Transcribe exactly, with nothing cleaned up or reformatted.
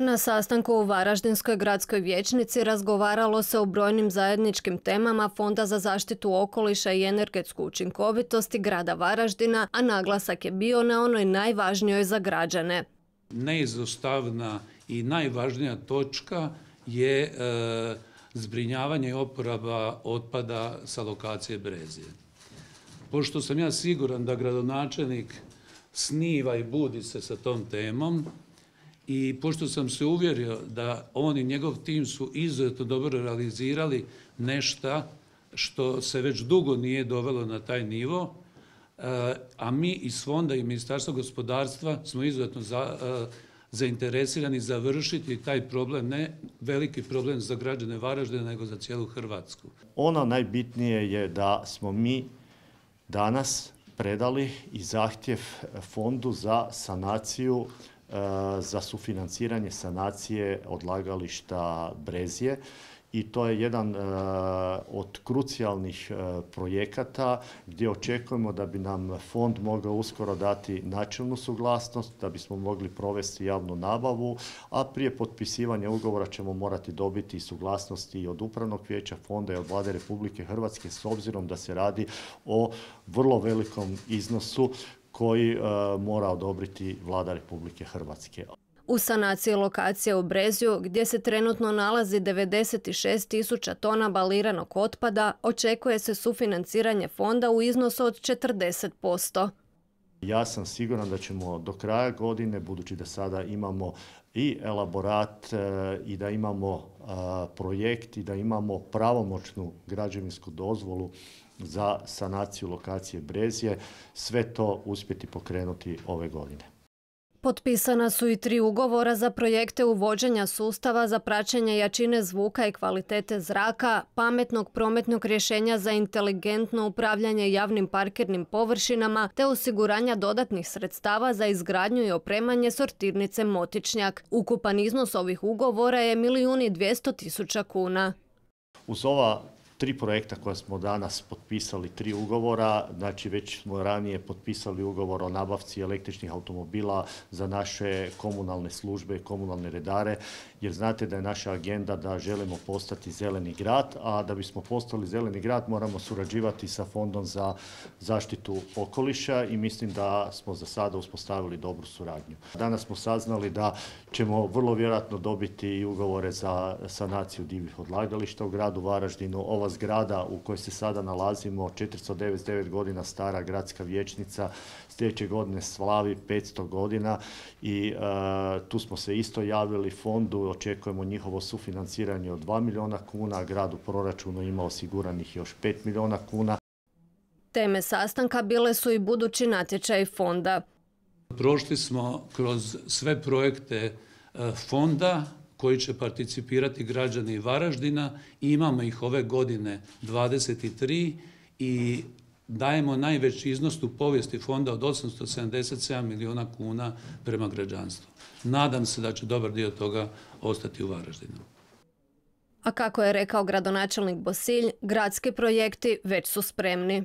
Na sastanku u Varaždinskoj gradskoj vijećnici razgovaralo se o brojnim zajedničkim temama Fonda za zaštitu okoliša i energetsku učinkovitost grada Varaždina, a naglasak je bio na onoj najvažnijoj za građane. Neizostavna i najvažnija točka je e, zbrinjavanje i oporaba otpada sa lokacije Brezje. Pošto sam ja siguran da gradonačelnik sniva i budi se sa tom temom, i pošto sam se uvjerio da on i njegov tim su izuzetno dobro realizirali nešto što se već dugo nije dovelo na taj nivo, a mi iz Fonda i Ministarstva gospodarstva smo izuzetno za, zainteresirani završiti taj problem, ne veliki problem za građane Varaždina, nego za cijelu Hrvatsku. Ono najbitnije je da smo mi danas predali i zahtjev Fondu za sanaciju, za sufinanciranje sanacije odlagališta Brezje i to je jedan od krucijalnih projekata gdje očekujemo da bi nam fond mogao uskoro dati načelnu suglasnost, da bismo mogli provesti javnu nabavu, a prije potpisivanja ugovora ćemo morati dobiti suglasnosti i od Upravnog vijeća fonda i od Vlade Republike Hrvatske s obzirom da se radi o vrlo velikom iznosu koji uh, mora odobriti Vlada Republike Hrvatske. U sanaciji lokacije u Brezju, gdje se trenutno nalazi devedeset šest tisuća tona baliranog otpada, očekuje se sufinanciranje fonda u iznosu od četrdeset posto. Ja sam siguran da ćemo do kraja godine, budući da sada imamo i elaborat uh, i da imamo uh, projekt i da imamo pravomoćnu građevinsku dozvolu za sanaciju lokacije Brezje, sve to uspjeti pokrenuti ove godine. Potpisana su i tri ugovora za projekte uvođenja sustava za praćenje jačine zvuka i kvalitete zraka, pametnog prometnog rješenja za inteligentno upravljanje javnim parkirnim površinama te osiguranja dodatnih sredstava za izgradnju i opremanje sortirnice Motičnjak. Ukupan iznos ovih ugovora je milijun i dvjesto tisuća kuna. Uz ova tri projekta koja smo danas potpisali, tri ugovora, znači već smo ranije potpisali ugovor o nabavci električnih automobila za naše komunalne službe i komunalne redare, jer znate da je naša agenda da želimo postati zeleni grad, a da bismo postali zeleni grad moramo surađivati sa Fondom za zaštitu okoliša i mislim da smo za sada uspostavili dobru suradnju. Danas smo saznali da ćemo vrlo vjerojatno dobiti i ugovore za sanaciju divljih odlagališta u gradu Varaždinu. Ova zgrada u kojoj se sada nalazimo, četiristo devedeset devet godina stara gradska vijećnica, sljedeće godine slavi petsto godina i uh, tu smo se isto javili fondu, očekujemo njihovo sufinanciranje od dva milijuna kuna, a grad u proračunu ima osiguranih još pet milijuna kuna. Teme sastanka bile su i budući natječaj fonda. Prošli smo kroz sve projekte fonda koji će participirati građani Varaždina i imamo ih ove godine dvadeset tri i dajemo najveći iznos u povijesti fonda od osamsto sedamdeset sedam milijuna kuna prema građanstvu. Nadam se da će dobar dio toga ostati u Varaždinu. A kako je rekao gradonačelnik Bosilj, gradski projekti već su spremni.